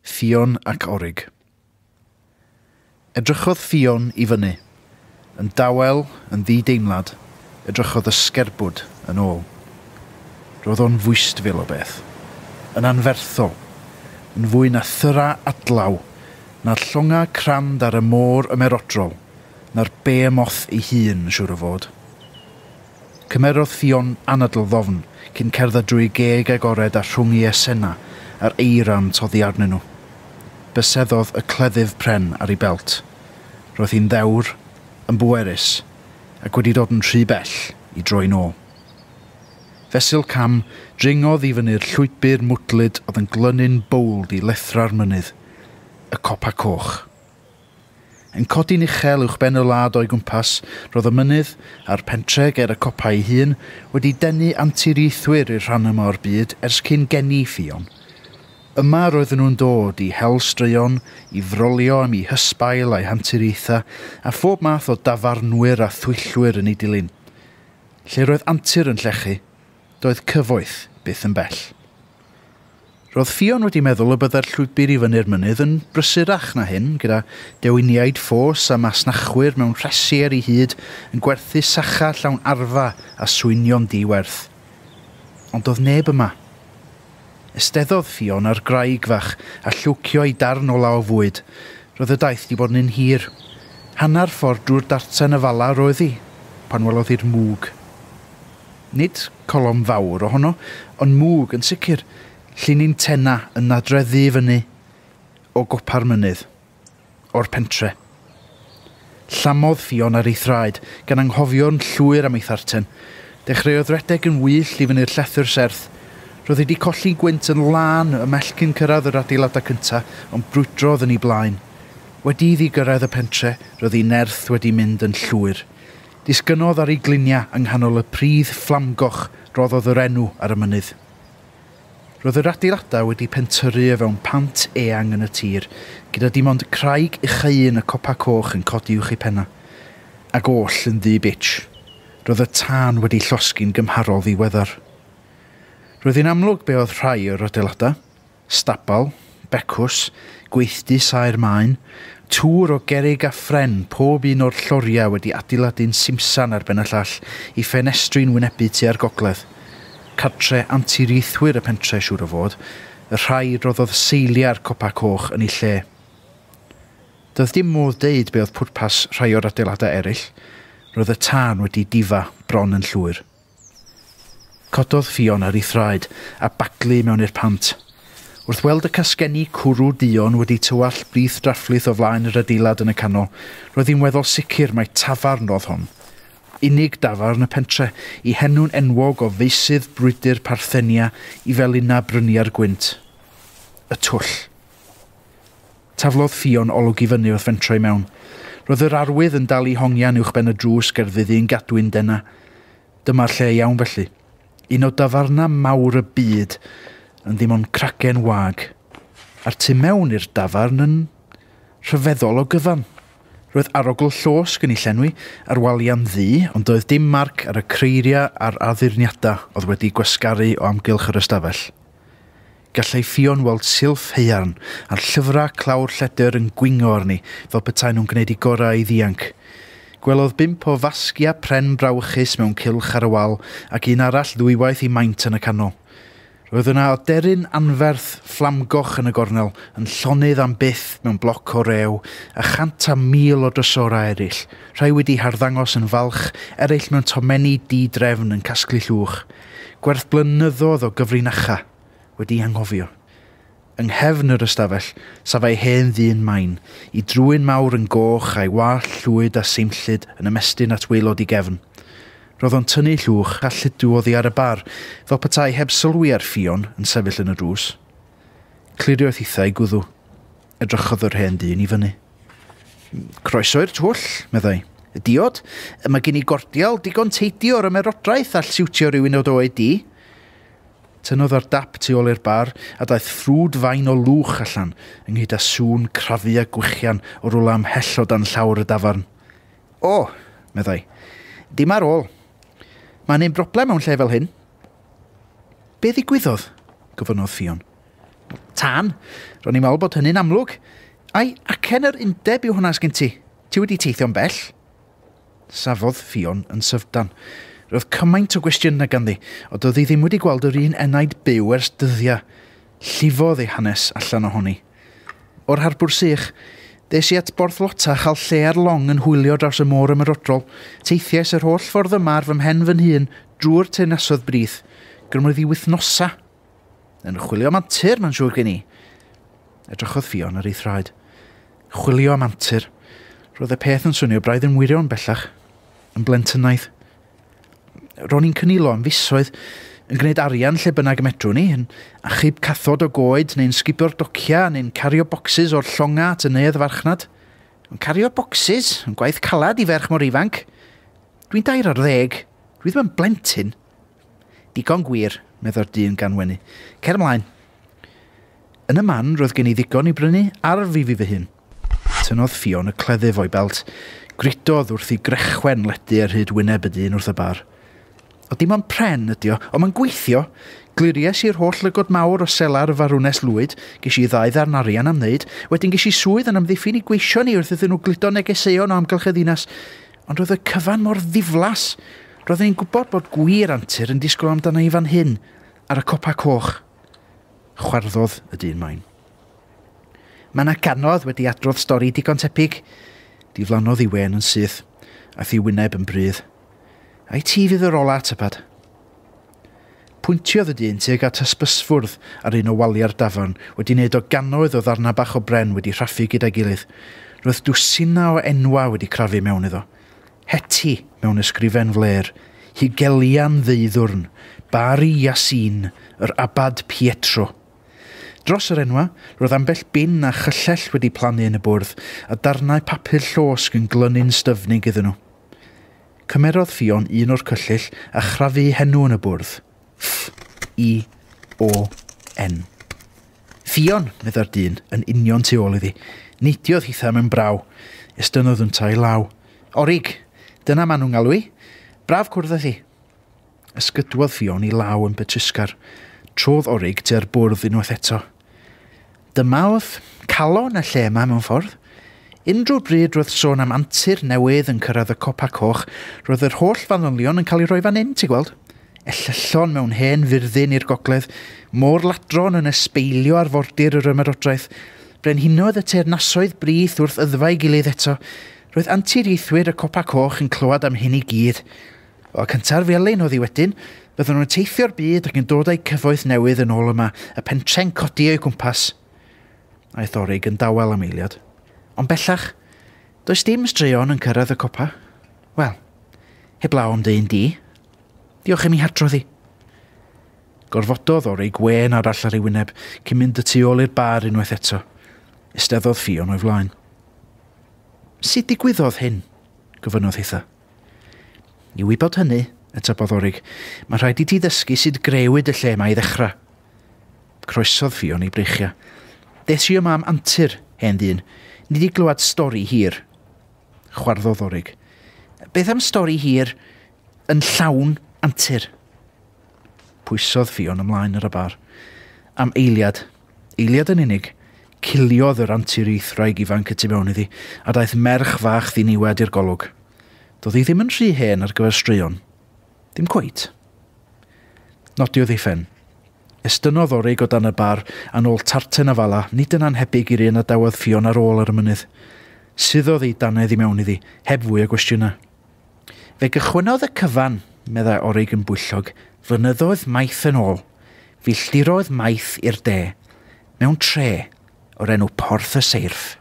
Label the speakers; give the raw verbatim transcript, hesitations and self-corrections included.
Speaker 1: Ffion ac Orig. Edrychodd Ffion i fyny. Yn dawel, yn ddideimlad, edrychodd y sgerbwd yn ôl. Roedd o'n fwystfil o beth. Yn anferthol. Yn fwy na thyra adlaw, na'r llonga crand ar y môr ymerodrol, na'r behemoth ei hun, siŵr o fod. Cymerodd Ffion anadl ddofn cyn cerdded drwy geg agored a rhwng ei esena a'r eira'n toddi arnyn nhw. Byseddodd y cleddyf pren ar ei belt. Roedd hi'n ddewr, yn bwerus, ac wedi dod yn rhy bell i droi nôl. Fesul cam, dringodd i fyny'r llwybr mwdlyd oedd yn glynu'n bowld i lethra'r mynydd, y copa coch. Yn codi'n uchel uwchben y wlad o'i gwmpas, roedd y mynydd a'r pentre ger y copa ei hun wedi denu anturiaethwyr i'r rhan yma o'r byd ers cyn geni Ffion. Yma roedden nhw'n dod i hel straeon, i frolio am eu hysbail a'u hanturiaethau, a phob math o dafarnwyr a thwyllwyr yn ei dilyn. Lle roedd antur yn llechu, doedd cyfoeth byth yn bell. Roedd Ffion wedi meddwl y byddai'r llwybr i fyny'r mynydd yn brysurach na hyn, gyda dewiniaid ffos a masnachwyr mewn rhesi ar ei hyd yn gwerthu sacha llawn arfa a swynion diwerth. Ond doedd neb yma. Esteddodd Ffion ar graig fach a llwcio ei darn ola o fwyd. Roedd y daith wedi bod yn un hir. Hanner ffordd drwy'r darten y fala roedd hi, pan welodd hi'r mwg. Nid colofn fawr ohono, ond mwg yn sicr, llinyn tenna yn nadreddu i fyny o gopa'r mynydd, o'r pentre. Llamodd Ffion ar ei thraed, gan anghofio'n llwyr am ei tharten. Dechreuodd redeg yn wyllt i fyny'r llethr serth. Roedd hi wedi colli gwynt yn lân ymhell cyn cyrraedd yr adeiladau cyntaf, ond brwydrodd yn ei blaen. Wedi iddi gyrraedd y pentre, roedd ei nerth wedi mynd yn llwyr. Disgynnodd ar ei gliniau yng nghanol y pridd fflamgoch roddodd yr enw ar y mynydd. Roedd yr adeiladau wedi pentyrru o fewn pant eang yn y tir, gyda dim ond craig ucha un y copa coch yn codi uwch ei penna. Ac oll yn ddu bitch. Roedd y tân wedi llosgi'n gymharol ddiweddar. Roedd hi'n amlwg be oedd rhai o'r adeiladau. Stabal, becws, gweithdy saer maen, tŵr o gerrig a phren, pob un o'r lloriau wedi adeiladu'n simsan ar ben y llall i ffenestri'n wynebu tua'r gogledd. Cartre anturiaethwyr y pentre siŵr o fod, y rhai roddodd seiliau'r copa coch yn ei lle. Doedd dim modd deud be oedd pwrpas rhai o'r adeiladau eraill. Roedd y tân wedi difa bron yn llwyr. Cododd Ffion ar ei thraed a baglu mewn i'r pant. Wrth weld y casgenni cwrw duon wedi tywallt brith drafflith o flaen yr adeilad yn y canol, roedd hi'n weddol sicr mai tafarn oedd hon. Unig dafarn y pentre, i henw'n enwog o feysydd brwydr Parthenia i felina bryniau'r gwynt. Y twll. Taflodd Ffion olwg i fyny wrth fentro i mewn. Roedd yr arwydd yn dal i hongian uwchben y drws gerfydd un gadwyn dena. Dyma'r lle iawn felly. Un o dafarna mawr y byd yn ddim ond cragen wag. A'r tu mewn i'r dafarn yn rhyfeddol o gyfan. Roedd arogl llosg yn ei llenwi a'r waliau'n ddu, ond doedd dim marc ar y creiriau a'r addurniadau oedd wedi gwasgaru o amgylch yr ystafell. Gallai Ffion weld silff haearn a'r llyfrau clawr lledr yn gwingo arni fel petai nhw'n gwneud i gorau i ddianc. Gwelodd bump o fasgiau pren brawychus mewn cylch ar y wal ac un arall ddwywaith i maint yn y canol. Roedd yna aderyn anferth fflamgoch yn y gornel, yn llonydd am byth mewn bloc o rew, a chant a mil o drysorau eraill, rhai wedi harddangos yn falch, eraill mewn tomenni di-drefn yn casglu llwch. Gwerth blynyddoedd o gyfrinacha wedi anghofio. Yng nghefn yr ystafell, safai hen ddyn main, i drwyn mawr yn goch a'i wallt llwyd a seimllyd yn ymestyn at waelod i gefn. Roedd o'n tynnu llwch a lludw oddi ar y bar, fel petai heb sylwi ar Ffion yn sefyll yn y drws. Cliriodd hithau gwddw. Edrychodd yr hen dyn i fyny. Croeso i'r twll, meddai. Y diod, mae gen i gordial digon teidi o'r ymerodraeth all siwtio rhywun o dy oed di. Tynnodd ar dap tu ôl i'r bar a daeth ffrwd fain o lwch allan, ynghyd â sŵn crafu a gwichian o rwla ymhell o dan llawr y dafarn. O, meddai, dim ar ôl. Mae'n un broblem mewn lle fel hyn. Be ddigwyddodd? Gofynnodd Ffion. Tân. Ro'n i'n meddwl bod hynny'n amlwg. Ai, acen yr undeb yw hwnna sgyn ti. Ti wedi teithio'n bell? Safodd Ffion yn syfdan. Roedd cymaint o gwestiynau ganddi, ond doedd hi ddim wedi gweld yr un enaid byw ers dyddiau. Llifodd ei hanes allan ohoni. O'r harbwr sych, des i at Borth Lota a chael lle ar long yn hwylio draws y môr ymerodrol. Teithiais yr holl ffordd yma ar fy mhen fy hun drwy'r teyrnasoedd brith. Gymrodd hi wythnosa. Yn chwilio am antur, mae'n siŵr gen i. Edrychodd Ffion ar ei thraed. Chwilio am antur. Roedd y peth yn swnio braidd yn wirion bellach. Yn blentynaidd. Ro'n i'n cynilo am fisoedd, yn gwneud arian lle bynnag y medrwn ni, yn achub cathod o goed, neu'n sgubio'r docia, neu'n cario bocsys o'r llonga at y neuadd farchnad. Yn cario bocsys, yn gwaith calad i ferch mor ifanc. Dwi'n dair ar ddeg, dwi ddim yn blentyn. Digon gwir, medda'r dyn gan wenu. Cer ymlaen. Yn y man, roedd gen i ddigon i brynu arf i fi fy hun. Tynnodd Ffion y cleddyf o'i belt. Gridodd wrth i grechwen ledu ar hyd wyneb y dyn wrth y bar. O dim ond pren ydi o, ond mae'n gweithio. Gliries i'r holl lygod mawr o selar y farwnes lwyd, ges i ddau ddarn arian am wneud, wedyn ges i swydd yn amddiffyn i gweision ni wrth iddyn nhw gludo negeseuon o amgylch y ddinas. Ond roedd y cyfan mor ddiflas. Roeddwn i'n gwybod bod gwir antur yn disgwyl amdano i fan hyn, ar y copa coch. Chwarddodd y dyn main. Mae yna ganodd wedi adrodd stori digon tebyg. Diflannodd ei wên yn syth, aeth ei wyneb yn brudd. Ai ti fydd yr ola, tybad? Pwyntiodd y dyn tuag at hysbysfwrdd ar un o waliau'r dafarn, wedi wneud o gannoedd o ddarnau bach o bren wedi rhaffu gyda'i gilydd. Roedd dwsina o enwa wedi crafu mewn iddo. Heti mewn ysgrifen fler, Hugelian Ddeuddwrn, Bari Yasin, yr Abad Pietro. Dros yr enwa, roedd ambell bin a chyllell wedi plannu yn y bwrdd, a darnau papur llosg yn glynu'n styfnig iddyn nhw. Cymerodd Ffion un o'r cyllyll a chrafu henw yn y bwrdd. F I O N. Ffion, medda'r dyn, yn union tu ôl iddi. Neidiodd hitha mewn braw. Estynnodd yntau law. Orig, dyna maen nhw'n galw i. Braf cwrdd â thi. Ysgydwodd Ffion i law yn betrusgar. Trodd Orig tua'r bwrdd unwaith eto. Dyma oedd calon y lle yma mewn ffordd. Unrhyw bryd roedd sôn am antur newydd yn cyrraedd y copa coch, roedd yr holl fanylion yn cael ei roi fan hyn, ti'n gweld? Ellyllon mewn hen fyrddin i'r gogledd, môr ladron yn ysbeilio arfordir yr ymerodraeth, brenhinoedd y teyrnasoedd brith wrth yddfau gilydd eto. Roedd anturiaethwyr y copa coch yn clywed am hyn i gyd. O cynta'r felin oedd hi wedyn, byddwn nhw'n teithio'r byd ac yn dod â'u cyfoeth newydd yn ôl yma, y pentre'n codi o'i gwmpas. Aeth Orig yn dawel am eiliad. Ond bellach, does dim straeon yn cyrraedd y copa. Wel, heblaw am dy un di. Diolch i mi hadrodd i. Gorfododd Orig wên arall ar ei wyneb cyn mynd y tu ôl i'r bar unwaith eto. Eisteddodd Ffion o'i flaen. Sut digwyddodd hyn? Gofynnodd hitha. I wybod hynny, atebodd Orig, mae rhaid i ti ddysgu sut grëwyd y lle yma i ddechrau. Croesodd Ffion ei breichiau. Des i yma am antur, hen ddyn. Nid i glywed stori hir. Chwarddodd Orig. Beth am stori hir yn llawn antur? Pwysodd Ffion ymlaen ar y bar. Am eiliad, eiliad yn unig, ciliodd yr anturiaethwraig ifanc y tu mewn iddi, a daeth merch fach ddiniwed i'r golwg. Doedd hi ddim yn rhy hen ar gyfer straeon. Dim cweit. Nodiodd ei phen. Estynnodd Orig o dan y bar a nôl tarten afala, nid yn anhebyg i'r un a dawodd Ffion ar ôl ar y mynydd. Suddodd ei dannedd i mewn iddi, heb fwy o gwestiynau. Fe gychwynnodd y cyfan, meddai Orig yn bwyllog, flynyddoedd maith yn ôl, filltiroedd maith i'r de, mewn tre o'r enw Porth y Seirff.